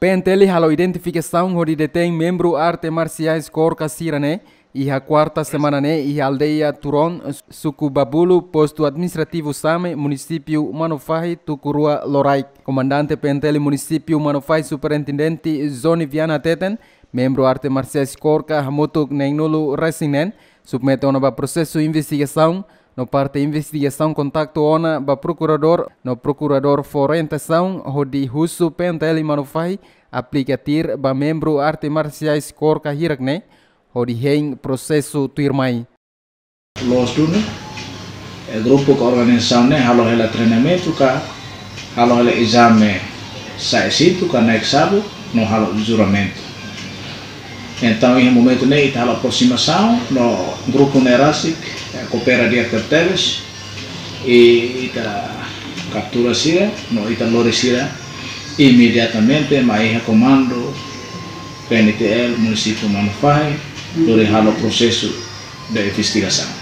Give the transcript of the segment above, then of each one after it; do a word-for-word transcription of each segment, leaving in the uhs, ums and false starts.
P N T L halo identifikasaun hodi detein membru arte marsiais KORKA sira-ne'e iha kuarta semana ne'e iha aldeia Turon, suku Babulu, postu administrativu Same, munisípiu Manufahi, tuku rua Loraik. Komandante P N T L munisípiu Manufahi, Superintendente Zoni Viana hateten, membru arte marsiais KORKA hamutuk neenulu-resin-neen submete ona ba prosesu investigasaun, no parte investigasaun kontaktu ona ba prokuradór, no prokuradór fó orientasaun hodi husu P N T L Manufahi aplika tuir ba membru arte marsiais KORKA hirak-ne'e hodi hein prosesu tuirmai. Loos duni, eh, grupu ka organizasaun ne'e halo hela treinamentu ka halo hela ezame sa'e sintu ka naik sabu no halo juramentu. Entaun, iha momentu ne'e ita halo aproximasaun no grupu ne'e rasik, eh, koopera di'ak tebes, i ita kaptura sira no ita lori sira imediatamente mai iha komandu P N T L munisípiu Manufahi, lori halo prosesu de investigasaun.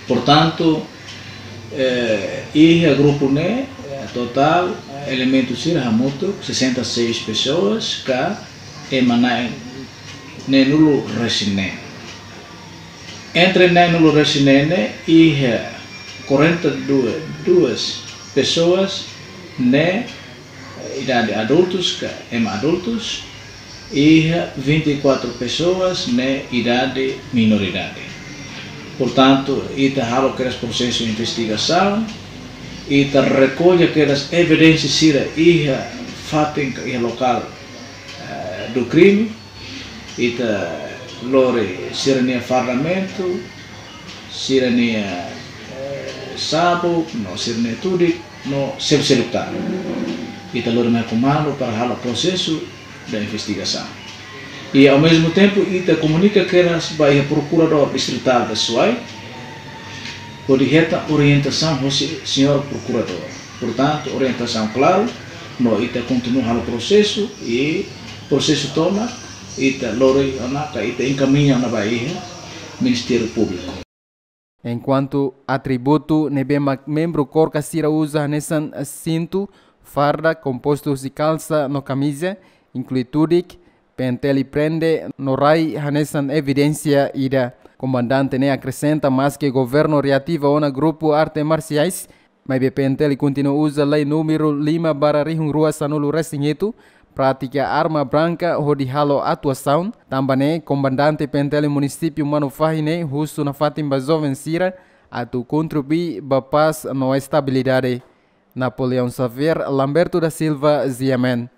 Portantu, eh, iha grupu ne'e, eh, totál, eh, elementu sira hamutuk sessenta e seis pessoas ka ema na'in neenulu-resin-neen. Entre neenulu-resin-neen ne'e iha quarenta e duas pessoas ne'e idade adultus ka ema adultus, iha vinte e quatro pessoas ne'e idade minoridade. Portantu, ita halo kedas prosesu investigasaun, ita rekolla kedas evidénsia sira iha fatin ka iha lokál, eh, do crime, ita lori sira-nia fardamentu, sira-nia, eh, sabu, no sira-nia tudik, no seluk-seluk tan. Ita lori mai komandu para halo prosesu de investigasaun. I, ao mesmo tempo, ita komunika kedas ba iha Prokuradór Distritál de Suai, hodi hetan orientasaun hosi señór Prokuradór. Portantu, orientasaun klaru, no ita kontinua halo prosesu, i prosesu tomak ita lori ona ka ita enkamiña ona ba iha Ministériu Públiku. Enkuantu atributu ne'ebé mak membru KORKA sira uza hanesan sintu, farda, kompostu husi kalsa no kamiza, inklui tudik, P N T L prende no rai hanesan evidénsia ida. Komandante ne'e akresenta, maske governu reativa ona grupu arte marsiais, maibé P N T L kontinua uza lei númeru lima barra rihun rua sanulu-resin-hitu, prátika arma branka hodi halo atuasaun. Tanba ne'e, komandante P N T L munisípiu Manufahi ne'e husu nafatin ba joven sira atu kontribui ba pás no estabilidade. Napoleão Xavier, Lamberto da Silva, G M N.